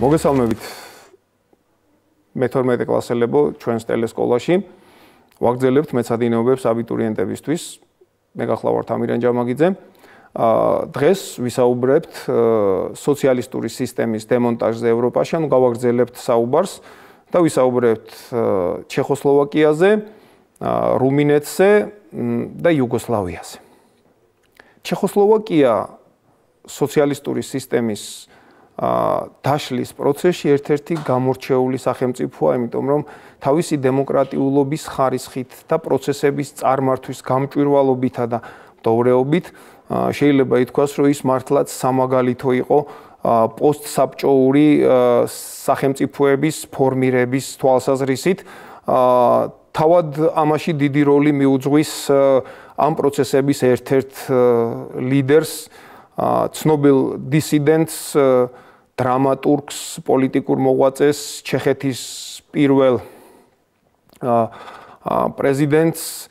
მოგესალმებით მე-12 კლასელებო ჩვენს ტელესკოლაში. ვაგრძელებთ მეცადინეობებს აბიტურიენტებისთვის. მე გახლავართ ამირან ჯამაგიძე. დღეს ვისაუბრებთ სოციალისტური სისტემის დემონტაჟზე ევროპაში, ანუ გავაგრძელებთ საუბარს და ვისაუბრებთ ჩეხოსლოვაკიაზე, რუმინეთზე და იუგოსლავიაზე. ჩეხოსლოვაკია სოციალისტური სისტემის დაშლის პროცესში ერთ-ერთი გამორჩეული სახელმწიფოა, იმიტომ რომ თავისი დემოკრატიულობის ხარისხით და პროცესების წარმართვის გამჭვირვალობითა და მდოვრეობით შეიძლება ითქვას, რომ ის მართლაც სამაგალითო იყო პოსტსაბჭოური სახელმწიფოების ფორმირების თვალსაზრისით. თავად ამაში დიდი როლი მიუძღვის ამ პროცესების ერთ-ერთ ლიდერს, ცნობილ დისიდენტს, დრამატურგს, პოლიტიკურ მოღვაწეს, ჩეხეთის პირველ პრეზიდენტს,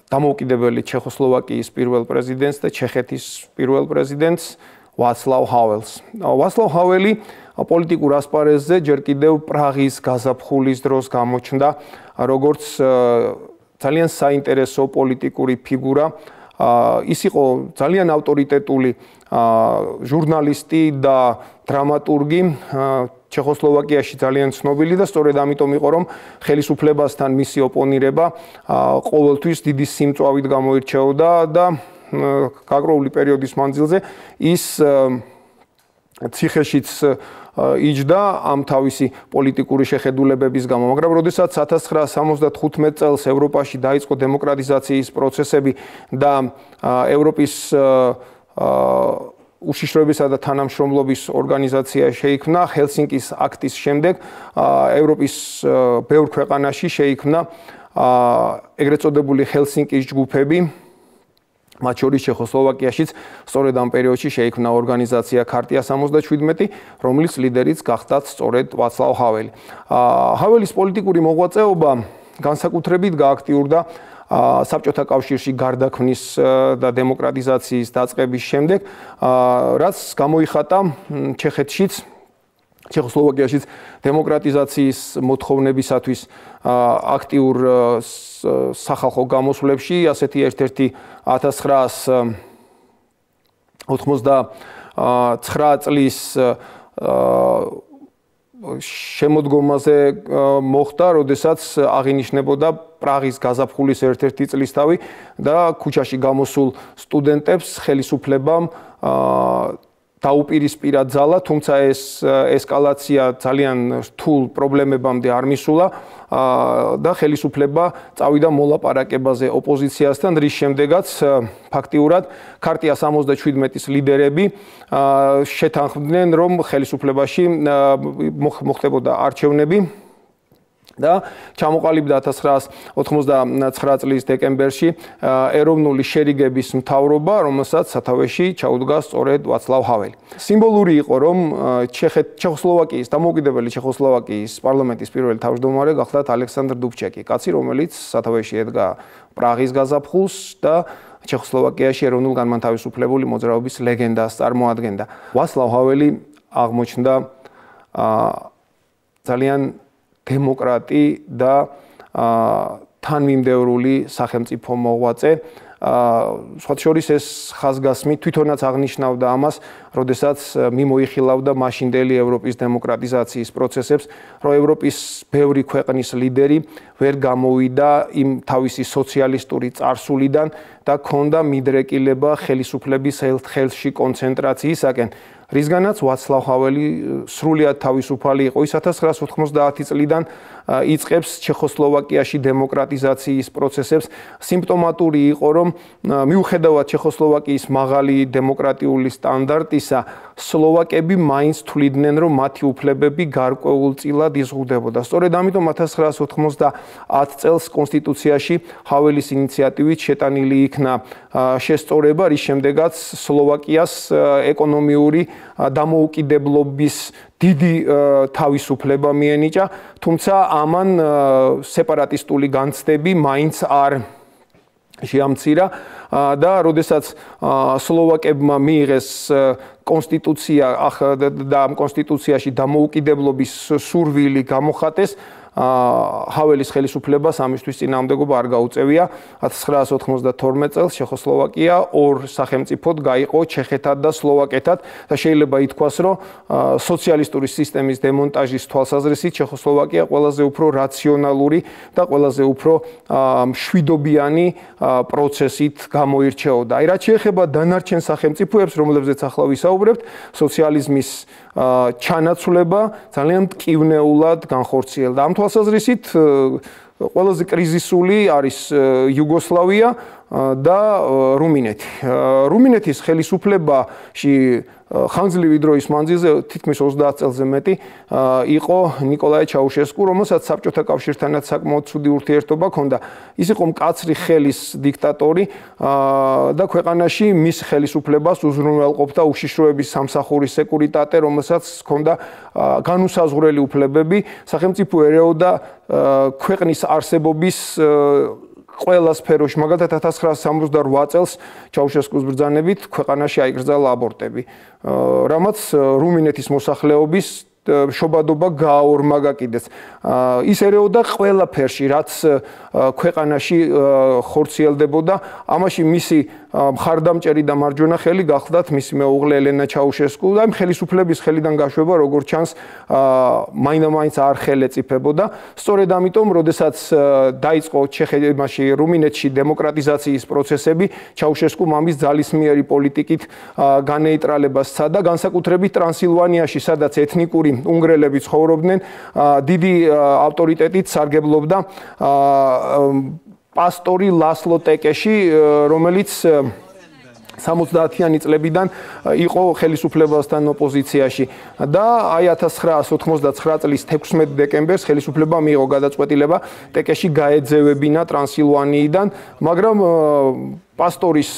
დამოუკიდებელი ჩეხოსლოვაკიის პირველ პრეზიდენტს და ჩეხეთის პირველ პრეზიდენტს ვაცლავ ჰაველს. ვაცლავ ჰაველი პოლიტიკურ ასპარეზზე ჯერ კიდევ პრაღის გაზაფხულის დროს გამოჩნდა როგორც ძალიან საინტერესო პოლიტიკური ფიგურა. ის იყო ძალიან ავტორიტეტული ჟურნალისტი და დრამატურგი, ჩეხოსლოვაკიაში ძალიან ცნობილი და სწორედ ამიტომ იყო, რომ ხელისუფლებასთან მისი ოპონირება ყოველთვის დიდი სიმწვავით გამოირჩეოდა და გაგროული პერიოდის მანძილზე ის ციხეშიც იჯდა ამ თავისი პოლიტიკური შეხედულებების გამო, მაგრამ როდესაც 1975 წელს ევროპაში დაიწყო დემოკრატიზაციის პროცესები და ევროპის უშიშროებისა და თანამშრომლობის ორგანიზაცია შეიქმნა, ჰელსინკის აქტის შემდეგ ევროპის ბევრ ქვეყანაში შეიქმნა ეგრეთ წოდებული ჰელსინკის ჯგუფები, მათ შორის ჩეხოსლოვაკიაშიც სწორედ ამ პერიოდში შეიქმნა ორგანიზაცია ქარტია 77, რომლის ლიდერიც გახდათ სწორედ ვაცლავ ჰაველი. ჰაველის პოლიტიკური მოღვაწეობა განსაკუთრებით გააქტიურდა საბჭოთა კავშირში გარდაქმნის და დემოკრატიზაციის დაწყების შემდეგ, რაც გამოიხატა ჩეხეთშიც, ჩეხოსლოვაკიაშიც დემოკრატიზაციის მოთხოვნებისათვის აქტიურ სახალხო გამოსვლებში, ასეთი ერთ-ერთი 1989 წლის შემოდგომაზე მოხდა, როდესაც აღინიშნებოდა პრაღის გაზაფხულის ერთ-ერთი წლისთავი და ქუჩაში გამოსულ სტუდენტებს ხელისუფლებამ დაუპირისპირა ძალა, თუმცა ეს ესკალაცია ძალიან რთულ პრობლემებამდე არ მისულა და ხელისუფლება წავიდა მოლაპარაკებაზე ოპოზიციასთან, რის შემდეგაც ფაქტიურად ქარტია 77-ის ლიდერები შეთანხმდნენ, რომ ხელისუფლებაში მოხდებოდა არჩევნები და ჩამოყალიბდა 1989 წლის დეკემბერში ეროვნული შერიგების მთავრობა, რომელსაც სათავეში ჩაუდგა სწორედ ვაცლავ ჰაველი. სიმბოლური იყო, რომ ჩეხოსლოვაკიის, დამოუკიდებელი ჩეხოსლოვაკიის პარლამენტის პირველი თავმჯდომარე გახლდათ ალექსანდრ დუბჩეკი, კაცი, რომელიც სათავეში ედგა პრაღის გაზაფხულს და ჩეხოსლოვაკიაში ეროვნულ-განმათავისუფლებული მოძრაობის ლეგენდას წარმოადგენდა. ვაცლავ ჰაველი აღმოჩნდა ძალიან დემოკრატი და თანმიმდევრული სახელმწიფო მოღვაწე. სხვათა შორის ეს ხაზგასმით თვითონაც აღნიშნავდა ამას, როდესაც მიმოიხილავდა მაშინდელი ევროპის დემოკრატიზაციის პროცესებს, რომ ევროპის ბევრი ქვეყნის ლიდერი ვერ გამოვიდა იმ თავისი სოციალისტური წარსულიდან და ჰქონდა მიდრეკილება ხელისუფლების ხელში კონცენტრაციისაკენ. რისგანაც ვაცლავ ჰაველი სრულიად თავისუფალი იყო. ის 1990 წლიდან იწყებს ჩეხოსლოვაკიაში დემოკრატიზაციის პროცესებს. სიმპტომატური იყო, რომ მიუხედავად ჩეხოსლოვაკიის მაღალი დემოკრატიული სტანდარტისა, სლოვაკები მაინც თვლიდნენ, რომ მათი უფლებები გარკვეულწილად იზღუდებოდა. სწორედ ამიტომ 1990 წელს კონსტიტუციაში ჰაველის ინიციატივით შეტანილი იქნა შესწორება, რის შემდეგაც სლოვაკიას ეკონომიური დამოუკიდებლობის დიდი თავისუფლება მიენიჭა, თუმცა ამან სეპარატისტული განცდები მაინც არ შეამცირა და როდესაც სლოვაკებმა მიიღეს კონსტიტუცია და ამ კონსტიტუციაში დამოუკიდებლობის სურვილი გამოხატეს ჰაველის ხელისუფლებას ამისთვის წინააღმდეგობა არ გაუწევია 1992 წელს ჩეხოსლოვაკია ორ სახელმწიფოდ გაიყო ჩეხეთად და სლოვაკეთად და შეიძლება ითქვას რომ სოციალისტური სისტემის დემონტაჟის თვალსაზრისით ჩეხოსლოვაკია ყველაზე უფრო რაციონალური და ყველაზე უფრო მშვიდობიანი პროცესით გამოირჩეოდა. აი რაც შეეხება დანარჩენ სახელმწიფოებს, რომლებზეც ახლა ვისაუბრებთ, სოციალიზმის ჩანაცვლება ძალიან მტკივნეულად განხორციელდა. ამ თვალსაზრისით ყველაზე კრიზისული არის იუგოსლავია და რუმინეთი. რუმინეთის ხელისუფლებაში ხანგრძლივი დროის მანძილზე თითქმის 30 წელზე მეტი იყო ნიკოლაი ჩაუშესკუ, რომელსაც საბჭოთა კავშირთანაც საკმაოდ ცუდი ურთიერთობა ჰქონდა. ის იყო მკაცრი ხელის დიქტატორი და ქვეყანაში მის ხელისუფლებას უზრუნველყოფდა უშიშროების სამსახურის სეკურიტატე, რომელსაც ჰქონდა განუსაზღვრელი უფლებები, სახელმწიფო ერეოდა ქვეყნის არსებობის ყველა სფეროში, მაგალითად 1968 წელს ჩაუშესკუს ბრძანებით ქვეყანაში აიკრძალა აბორტები, რამაც რუმინეთის მოსახლეობის შობადობა გააორმაგა კიდეც. ის ერეოდა ყველა ფერში, რაც ქვეყანაში ხორციელდებოდა, ამაში მისი მხარდამჭერი და მარჯვენა ხელი გახლდათ მისი მეუღლე ელენა ჩაუშესკუ და იმ ხელისუფლების ხელიდან გაშვება როგორც ჩანს მაინდა-მაინც არ ხელეწიფებოდა. სწორედ ამიტომ, როდესაც დაიწყო ჩეხეთში, რუმინეთში დემოკრატიზაციის პროცესები, ჩაუშესკუ მამის ძალისმიერი პოლიტიკით განეიტრალებას სცადა, განსაკუთრებით ტრანსილვანიაში, სადაც ეთნიკური უნგრელები ცხოვრობდნენ, დიდი ავტორიტეტით სარგებლობდა პასტორი ლასლო ტეკეში, რომელიც 70-იანი წლებიდან იყო ხელისუფლებასთან ოპოზიციაში და აი 1989 წლის 16 დეკემბერს ხელისუფლებამ მიიღო გადაწყვეტილება ტეკეში გაეძევებინა ტრანსილვანიიდან, მაგრამ პასტორის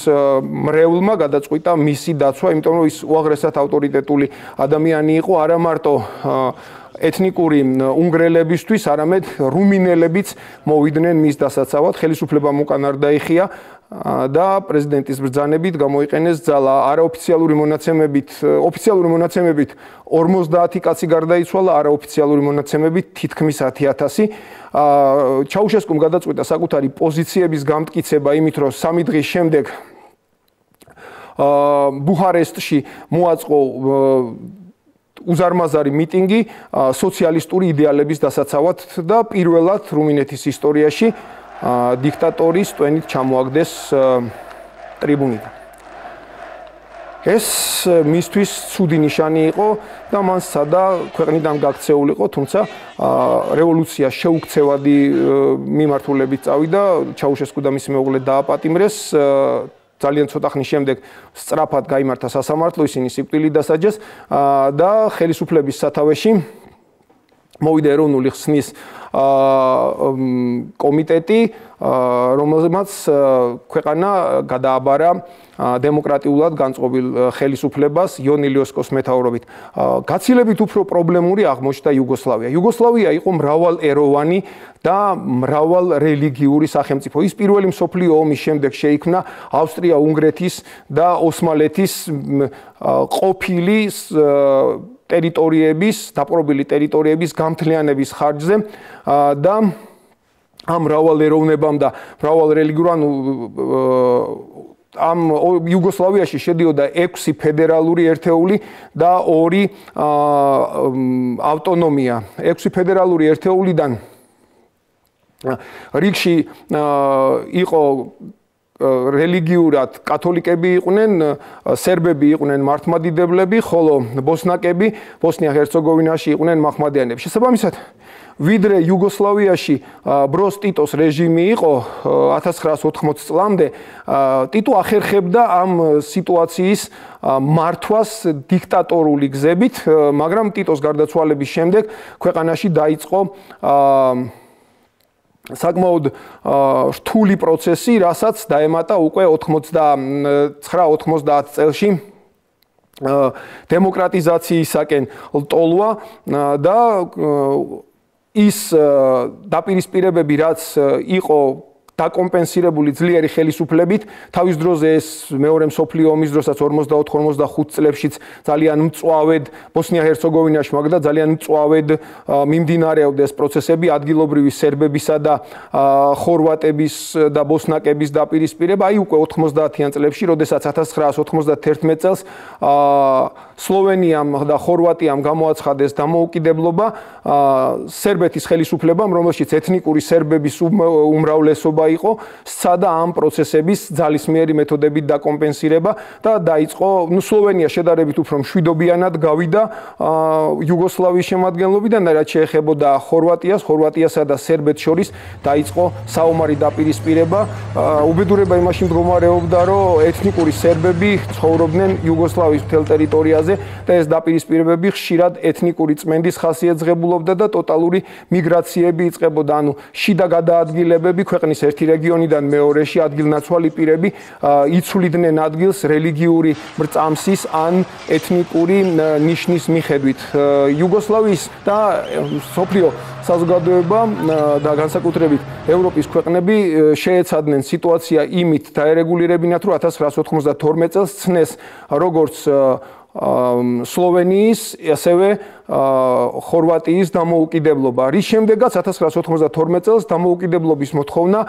მრევლმა გადაწყვიტა მისი დაცვა, იმიტომ რომ ის უაღრესად ავტორიტეტული ადამიანი იყო, არა მარტო ეთნიკური უნგრელებისთვის, არამედ რუმინელებიც მოვიდნენ მის დასაცავად, ხელისუფლებამ უკან არ დაიხია და პრეზიდენტის ბრძანებით გამოიყენეს ძალა. არაოფიციალური მონაცემებით, ოფიციალური მონაცემებით 50 კაცი გარდაიცვალა, არაოფიციალური მონაცემებით თითქმის 10,000. ჩაუშესკუმ გადაწყვიტა საკუთარი პოზიციების გამტკიცება იმით, რომ 3 დღის შემდეგ ბუხარესტში მოაწყო უზარმაზარი მიტინგი სოციალისტური იდეალების დასაცავად და პირველად რუმინეთის ისტორიაში დიქტატორის ტვენით ჩამოაგდეს ტრიბუნიდან. ეს მისთვის ცუდი ნიშანი იყო და მან სცადა ქვეყნიდან გაქცეულიყო, თუმცა რევოლუცია შეუქცევადი მიმართულებით წავიდა, ჩაუშესკუ და მისი მეუღლე დააპატიმრეს. ძალიან ცოტა ხნის შემდეგ სწრაფად გაიმართა სასამართლო, ისინი სიკვდილით დასაჯეს და ხელისუფლების სათავეში მოვიდა ეროვნული ხსნის კომიტეტი, რომელმაც ქვეყანა გადააბარა დემოკრატიულად განწყობილ ხელისუფლებას იონ ილიოსკოს მეთაურობით. გაცილებით უფრო პრობლემური აღმოჩნდა იუგოსლავია. იუგოსლავია იყო მრავალეროვანი და მრავალრელიგიური სახელმწიფო. ის პირველი მსოფლიო ომის შემდეგ შეიქმნა ავსტრია-უნგრეთის და ოსმალეთის ყოფილი ტერიტორიების, დაპყრობილი ტერიტორიების გამთლიანების ხარჯზე და ამ მრავალეროვნებამ და მრავალრელიგიურ ამ იუგოსლავიაში შედიოდა 6 ფედერალური ერთეული და 2 ავტონომია. 6 ფედერალური ერთეულიდან რიგში იყო რელიგიურად კათოლიკები იყვნენ, სერბები იყვნენ მართლმადიდებლები, ხოლო ბოსნაკები ბოსნია-ჰერცეგოვინაში იყვნენ მაჰმადიანები. შესაბამისად, ვიდრე იუგოსლავიაში ბროს ტიტოს რეჟიმი იყო 1980 წლამდე, ტიტო ახერხებდა ამ სიტუაციის მართვას დიქტატორული გზებით, მაგრამ ტიტოს გარდაცვალების შემდეგ ქვეყანაში დაიწყო საკმაოდ რთული პროცესი, რასაც დაემატა უკვე 89-90 წელში დემოკრატიზაციისაკენ ლტოლვა და ის დაპირისპირებები, რაც იყო დაკომპენსირებული ძლიერი ხელისუფლებით. თავის დროზე ეს მეორე მსოფლიო ომის დროსაც 44-45 წლებშიც ძალიან მწვავედ ბოსნია-ჰერცეგოვინაში, მაგრამ ძალიან მწვავედ მიმდინარეობდა ეს პროცესები ადგილობრივი სერბებისა და ხორვატების და ბოსნაკების დაპირისპირება. აი უკვე 90-იან წლებში, როდესაც 1991 წელს სლოვენიამ და ხორვატიამ გამოაცხადეს დამოუკიდებლობა, სერბეთის ხელისუფლებამ, რომელშიც ეთნიკური სერბების უმრავლესობა იყო, სცადა ამ პროცესების ძალისმიერი მეთოდებით დაკომპენსირება და დაიწყო, სლოვენია შედარებით უფრო მშვიდობიანად გავიდა იუგოსლავიის შემადგენლობიდან, რაც შეეხებოდა ხორვატიასა და სერბეთს შორის დაიწყო საომარი დაპირისპირება. უბედურება იმაში მდგომარეობდა, რომ ეთნიკური სერბები ცხოვრობდნენ იუგოსლავიის მთელ ტერიტორიაზე და ეს დაპირისპირებები ხშირად ეთნიკური წმენდის ხასიათს ღებულობდა და ტოტალური მიგრაციები იწყებოდა, ანუ შიდა გადაადგილებები ქვეყნის ერთი რეგიონიდან მეორეში ადგილნაცვალი პირები იცვლიდნენ ადგილს რელიგიური მრწამსის ან ეთნიკური ნიშნის მიხედვით. იუგოსლავიის და მსოფლიო საზოგადოება და განსაკუთრებით ევროპის ქვეყნები შეეცადნენ სიტუაცია იმით დაერეგულირებინათ, რომ 1992 წელს ცნეს როგორც სლოვენიის, ასევე ხორვატიის დამოუკიდებლობა. რის შემდეგაც 1992 წელს დამოუკიდებლობის მოთხოვნა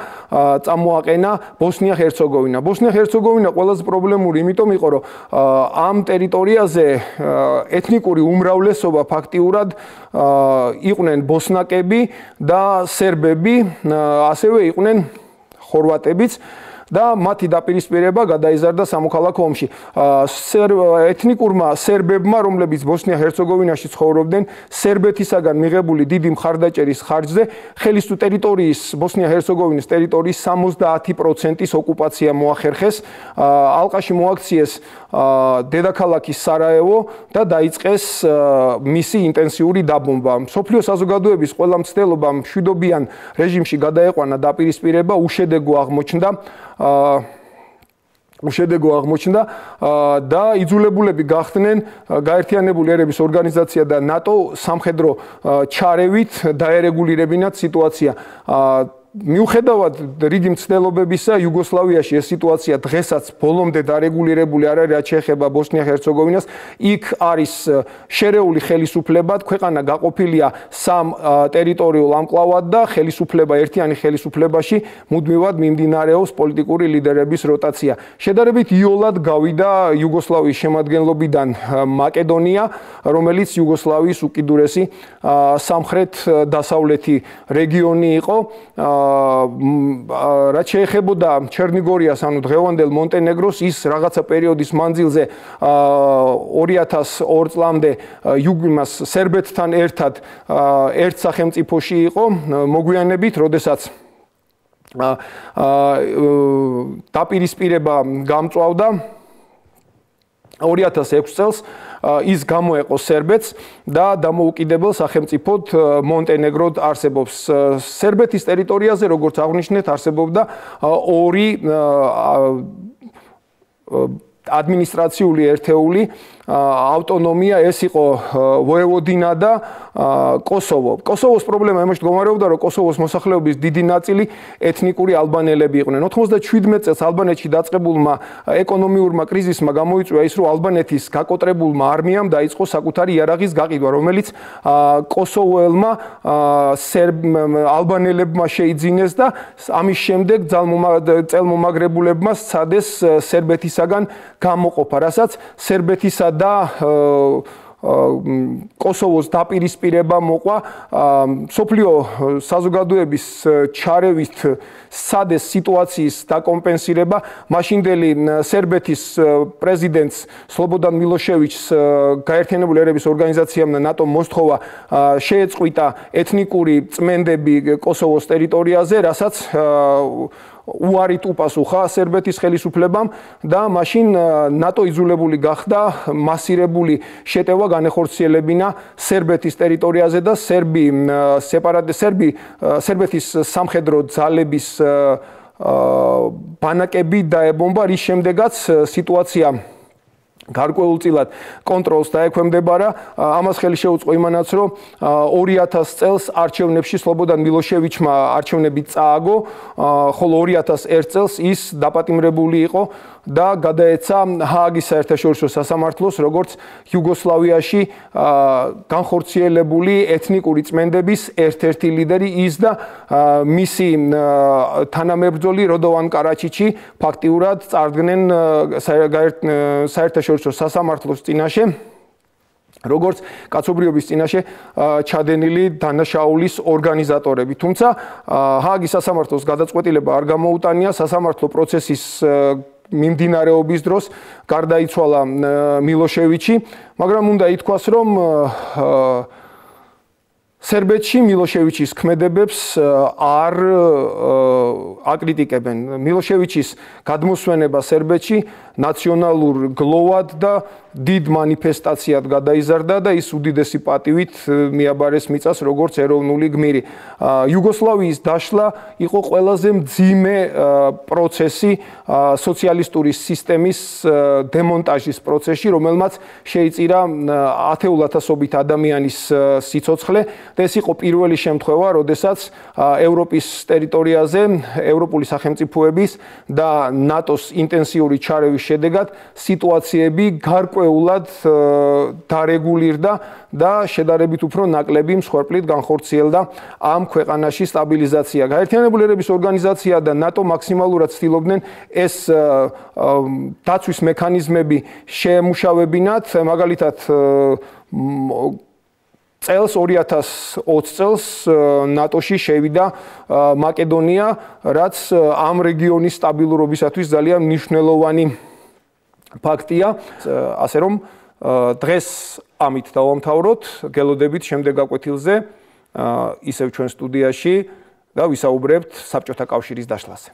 წამოაყენა ბოსნია-ჰერცეგოვინა. ბოსნია-ჰერცეგოვინა ყველაზე პრობლემური იმიტომ იყო, რომ ამ ტერიტორიაზე ეთნიკური უმრავლესობა ფაქტიურად იყვნენ ბოსნაკები და სერბები, ასევე იყვნენ ხორვატებიც. და მათი დაპირისპირება გადაიზარდა სამოქალაქო ომში. ეთნიკურმა სერბებმა, რომლებიც ბოსნია-ჰერცეგოვინაში ცხოვრობდნენ, სერბეთისაგან მიღებული დიდი მხარდაჭერის ხარჯზე ხელის ტერიტორიის, ბოსნია-ჰერცეგოვინის ტერიტორიის 70%-ის ოკუპაცია მოახერხეს. ალყაში მოაქციეს დედაქალაქი სარაევო და დაიწყეს მისი ინტენსიური დაბომბა. მსოფლიო საზოგადოების ყველა მცდელობა მშვიდობიან რეჟიმში გადაეყვანა დაპირისპირება, უშედეგო აღმოჩნდა და იძულებულები გახდნენ გაერთიანებული ერების ორგანიზაცია და ნატო სამხედრო ჩარევით დაერეგულირებინათ სიტუაცია. მიუხედავად რიგი მცდელობებისა, იუგოსლავიაში ეს სიტუაცია დღესაც ბოლომდე დარეგულირებული არ არის, რაც შეეხება ბოსნია-ჰერცეგოვინას. იქ არის შერეული ხელისუფლება, ქვეყანა გაყოფილია სამ ტერიტორიულ ანკლავად და ხელისუფლება, ერთიანი ხელისუფლებაში მუდმივად მიმდინარეობს პოლიტიკური ლიდერების როტაცია. შედარებით იოლად გავიდა იუგოსლავიის შემადგენლობიდან მაკედონია, რომელიც იუგოსლავიის უკიდურესი სამხრეთ-დასავლეთი რეგიონი იყო. რაც შეეხებოდა ჩერნიგორიას, ანუ დღევანდელ მონტენეგროს, ის რაღაცა პერიოდის მანძილზე 2002 წლამდე იუგიმას სერბეთთან ერთად ერთ სახელმწიფოში იყო, მოგვიანებით, როდესაც დაპირისპირება გამწვავდა 2006 წელს ის გამოეყო სერბეთს და დამოუკიდებელ სახელმწიფოდ მონტენეგროდ არსებობს. სერბეთის ტერიტორიაზე, როგორც აღნიშნეთ, არსებობდა ორი ადმინისტრაციული ერთეული ავტონომია, ეს იყო ვოევოდინა და კოსოვო. კოსოვოს პრობლემა იმაში მდგომარეობდა, რომ კოსოვოს მოსახლეობის დიდი ნაწილი ეთნიკური ალბანელები იყვნენ. 97 წელს ალბანეთში დაწყებულმა ეკონომიურმა კრიზისმა გამოიწვია ის, რომ ალბანეთის გაკოტრებულმა არმიამ დაიწყო საკუთარი იარაღის გაყიდვა, რომელიც კოსოვოელმა ალბანელებმა შეიძინეს და ამის შემდეგ წელმომაგრებულებმა სცადეს სერბეთისაგან გამოყოფა, რასაც სერბეთისა და კოსოვოს დაპირისპირება მოყვა. მსოფლიო საზოგადოების ჩარევით სცადეს სიტუაციის დაკომპენსირება. მაშინდელი სერბეთის პრეზიდენტს სლობოდან მილოშევიჩს გაერთიანებული ერების ორგანიზაციამ და ნატომ მოსთხოვა შეეწყვიტა ეთნიკური წმენდები კოსოვოს ტერიტორიაზე, რასაც უარით უპასუხა სერბეთის ხელისუფლებამ და მაშინ ნატო იძულებული გახდა მასირებული შეტევა განეხორციელებინა სერბეთის ტერიტორიაზე და სერბეთის სამხედრო ძალების ბანაკები დაებომბა, რის შემდეგაც სიტუაცია გარკვეულწილად კონტროლს დაექვემდებარა. ამას ხელი შეუწყო იმანაც, რომ 2000 წელს არჩევნებში სლობოდან მილოშევიჩმა არჩევნები წააგო, ხოლო 2001 წელს ის დაპატიმრებული იყო და გადაეცა ჰააგის საერთაშორისო სასამართლოს, როგორც იუგოსლავიაში განხორციელებული ეთნიკური წმენდების ერთ-ერთი ლიდერი ის და მისი თანამებრძოლი როდოვან კარაჩიჩი ფაქტიურად წარდგნენ საერთაშორისო სასამართლოს წინაშე, როგორც კაცობრიობის წინაშე ჩადენილი დანაშაულის ორგანიზატორები. თუმცა ჰააგის სასამართლოს გადაწყვეტილება არ გამოუტანია, სასამართლო პროცესის მიმდინარეობის დროს გარდაიცვალა მილოშევიჩი, მაგრამ უნდა ითქვას, რომ სერბეთში მილოშევიჩის ქმედებებს არ აკრიტიკებენ. მილოშევიჩის გადმოსვენება სერბეთში ნაციონალურ გლოვად და დიდ მანიფესტაციად გადაიზარდა და ის უდიდესი პატივით მიაბარეს მიწას როგორც ეროვნული გმირი. იუგოსლავიის დაშლა იყო ყველაზე მძიმე პროცესი სოციალისტური სისტემის დემონტაჟის პროცესში, რომელმაც შეიწირა ათეულათასობით ადამიანის სიცოცხლე და ეს იყო პირველი შემთხვევა, როდესაც ევროპის ტერიტორიაზე ევროპული სახელმწიფოების და ნატოს ინტენსიური ჩარევის შედეგად სიტუაციები გარკვეულად დარეგულირდა და შედარებით უფრო ნაკლები მსხვერპლით განხორციელდა ამ ქვეყანაში სტაბილიზაცია. გაერთიანებული ერების ორგანიზაცია და ნატო მაქსიმალურად ცდილობდნენ ეს დაცვის მექანიზმები შეემუშავებინათ, მაგალითად წელს 2020 წელს ნატოში შევიდა მაკედონია, რაც ამ რეგიონის სტაბილურობისათვის ძალიან მნიშვნელოვანი ფაქტია. ასე რომ დღეს ამით დავამთავროთ, გელოდებით შემდეგ გაკვეთილზე ისევ ჩვენ სტუდიაში და ვისაუბრებთ საბჭოთა კავშირის დაშლაზე.